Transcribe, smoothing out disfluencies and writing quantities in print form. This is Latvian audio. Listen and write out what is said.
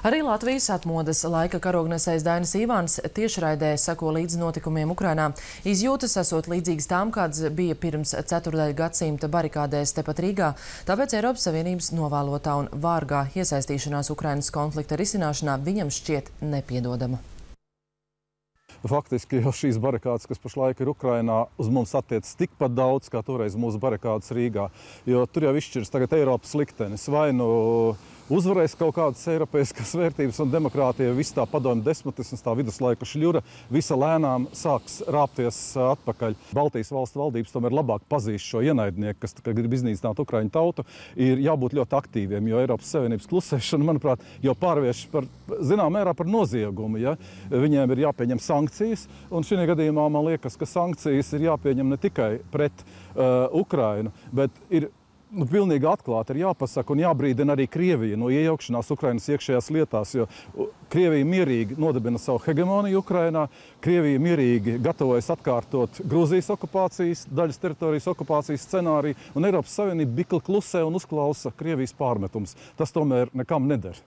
Arī Latvijas atmodas laika karognesējs Dainis Ivāns tiešraidē seko līdz notikumiem Ukrainā. Izjūtas esot līdzīgas tām, kāds bija pirms ceturdaļa gadsimta barikādēs tepat Rīgā. Tāpēc Eiropas Savienības novēlotā un vārgā iesaistīšanās Ukrainas konflikta risināšanā viņam šķiet nepiedodama. Faktiski jau šīs barikādes, kas pašlaik ir Ukrainā, uz mums attiecas tikpat daudz, kā toreiz mūsu barikādes Rīgā. Jo tur jau izšķirs tagad Eiropas liktenis. Vai nu uzvarēs kaut kādas eiropeiskas vērtības un demokrātija, viss tā padomju despotisms, tā viduslaiku šļura, visa lēnām sāks rāpties atpakaļ. Baltijas valstu valdības tomēr labāk pazīst šo ienaidnieku, kas grib iznīcināt Ukraiņu tautu, ir jābūt ļoti aktīviem, jo Eiropas Savienības klusēšana, manuprāt, jau pārvērš par, zinām mērā par noziegumu. Ja? Viņiem ir jāpieņem sankcijas, un šī gadījumā man liekas, ka sankcijas ir jāpieņem ne tikai pret Ukrainu, bet ir pilnīgi atklāti ir jāpasaka un jābrīdina arī Krievija no iejaukšanās Ukrainas iekšējās lietās, jo Krievija mierīgi nodibina savu hegemoniju Ukrainā, Krievija mierīgi gatavojas atkārtot Grūzijas okupācijas, daļas teritorijas okupācijas scenāriju, un Eiropas Savienība bikli klusē un uzklausa Krievijas pārmetums. Tas tomēr nekam neder.